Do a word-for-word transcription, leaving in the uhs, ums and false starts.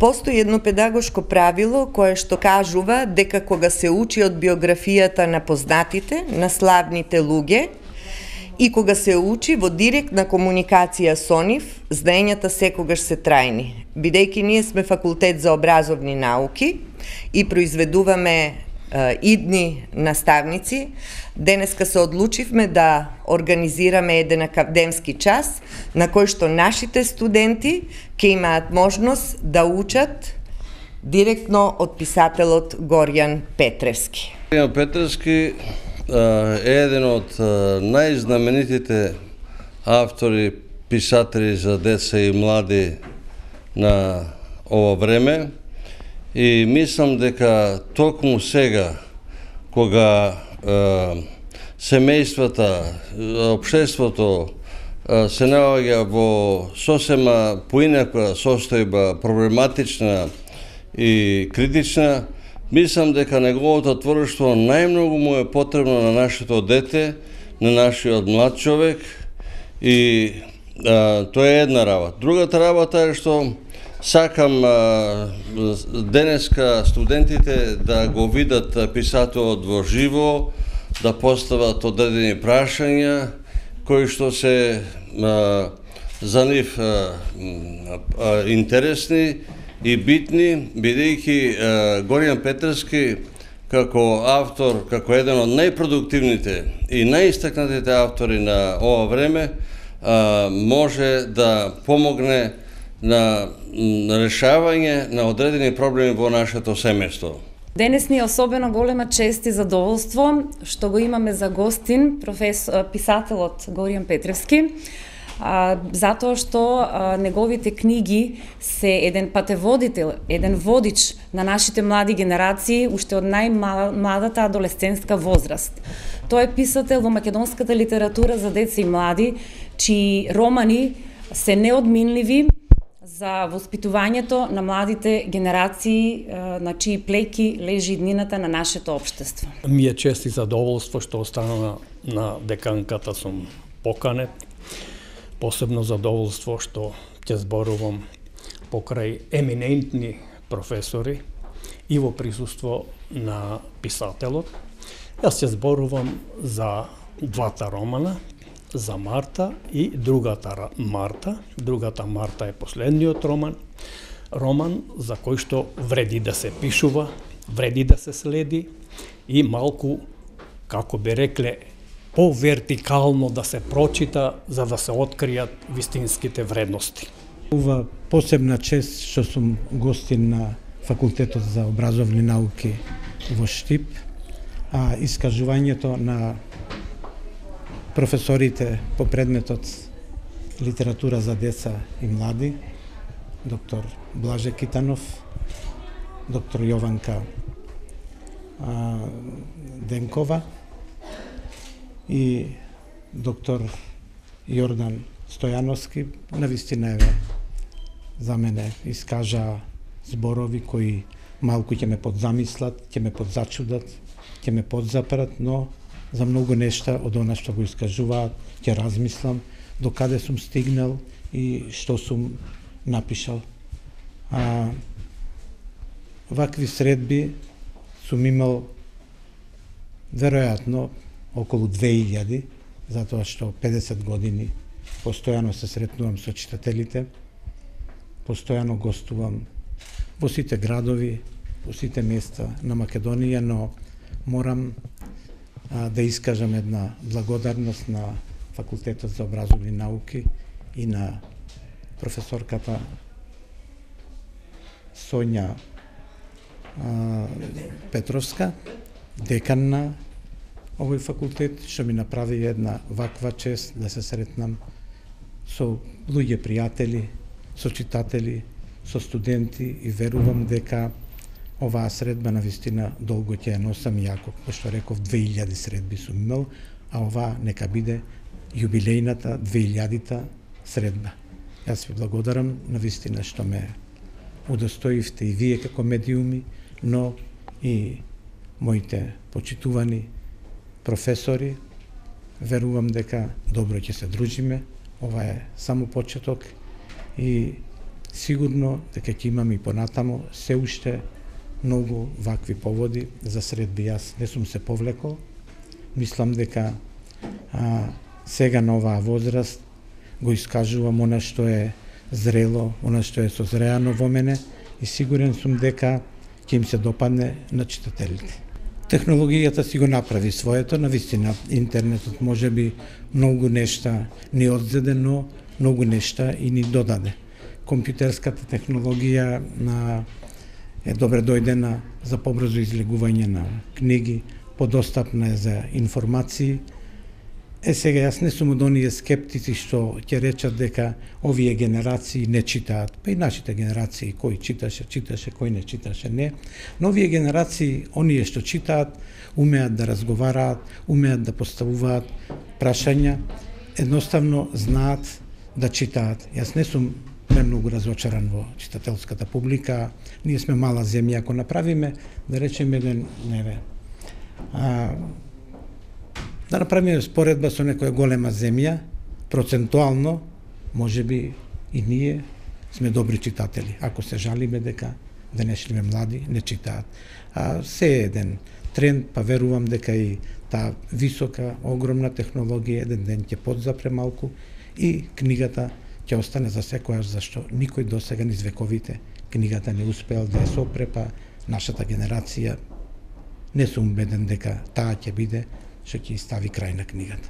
Постои едно педагошко правило кое што кажува дека кога се учи од биографијата на познатите, на славните луѓе, и кога се учи во директна комуникација со нив, знаењата секогаш се трајни. Бидејќи ние сме факултет за образовни науки и произведуваме идни наставници, денеска се одлучивме да организираме еден академски час на кој што нашите студенти ќе имаат можност да учат директно од писателот Горијан Петревски. Горијан Петревски е еден од најзнаменитите автори, писатели за деца и млади на ова време. И мислам дека токму сега, кога е, семејствата, општеството е, се наоѓа во сосема поинаква состојба, проблематична и критична, мислам дека неговото творештво најмногу му е потребно на нашето дете, на нашиот млад човек, и е, тоа е една работа. Другата работа е што сакам а, денеска студентите да го видат писателот во живо, да постават одредени прашања кои што се а, за нив а, а, интересни и битни, бидејќи Горијан Петревски како автор, како еден од најпродуктивните и најистакнатите автори на ова време, а, може да помогне на решавање на одредени проблеми во нашето семејство. Денес ни е особено голема чест и задоволство што го имаме за гостин професор, писателот Горијан Петревски, а, затоа што а, неговите книги се еден патеводител, еден водич на нашите млади генерации уште од најмладата адолесцентска возраст. Тој е писател во македонската литература за деца и млади, чии романи се неодминливи за воспитувањето на младите генерации, на чии плеки лежи иднината на нашето општество. Ми е чест и задоволство што останала на деканката сум поканет. Посебно задоволство што ќе зборувам покрај еминентни професори и во присуство на писателот. Јас ќе зборувам за двата романа, за Марта и другата Марта. Другата Марта е последниот роман, роман за кој што вреди да се пишува, вреди да се следи и малку, како би рекле, повертикално да се прочита за да се откријат вистинските вредности. Ова посебна чест што сум гостин на Факултетот за образовни науки во Штип, а искажувањето на професорите по предметот литература за деца и млади, доктор Блаже Китанов, доктор Јованка а, Денкова и доктор Јордан Стојановски, навистина еве за мене искажа зборови кои малку ќе ме подзамислат, ќе ме подзачудат, ќе ме подзапрат, но за многу нешта од она што го искажуваат, ќе размислам до каде сум стигнал и што сум напишал. А, вакви средби сум имал веројатно околу две илјади, затоа што педесет години постојано се сретнувам со читателите, постојано гостувам во сите градови, во сите места на Македонија, но морам а, да искажам една благодарност на Факултетот за образовни науки и на професорката Соња а, Петровска, декан на овој факултет, што ми направи една ваква чест да се сретнам со луѓе пријатели, со читатели, со студенти и верувам дека оваа средба навистина долго ќе ја носам, јако, што реков, две илјади средби сум имал, а оваа нека биде јубилејната две илјадита средба. Јас ви благодарам навистина што ме удостоивте и вие како медиуми, но и моите почитувани професори. Верувам дека добро ќе се дружиме. Ова е само почеток и сигурно дека ќе имаме и понатамо се уште многу вакви поводи за средби. Јас не сум се повлекол. Мислам дека а, сега на оваа возраст го искажувам она што е зрело, она што е созреано во мене и сигурен сум дека ќе им се допадне на читателите. Технологијата си го направи своето, навистина интернетот може би многу нешта ни одзеде, но многу нешта и ни додаде. Компјутерската технологија на е добре дојдена за побрзо излегување на книги, подостапна е за информации. Е сега јас не сум од оние скептици што ќе речат дека овие генерации не читаат, па и нашите генерации кој читаше, читаше, кој не читаше, не. Но овие генерации, оние што читаат, умеат да разговараат, умеат да поставуваат прашања, едноставно знаат да читаат. Јас не сум премногу разочаран во читателската публика. Ние сме мала земја, ако направиме, да речеме еден, неве, а, да направиме споредба со некоја голема земја, процентуално, може би и ние сме добри читатели, ако се жалиме дека денешните млади не читаат. А се е еден тренд, па верувам дека и таа висока, огромна технологија еден ден ќе подзапре малку и книгата ќе остане за секојаш, зашто никој досега низ вековите книгата не успеал да ја сопре, па нашата генерација не сум убеден дека таа ќе биде што ќе стави крај на книгата.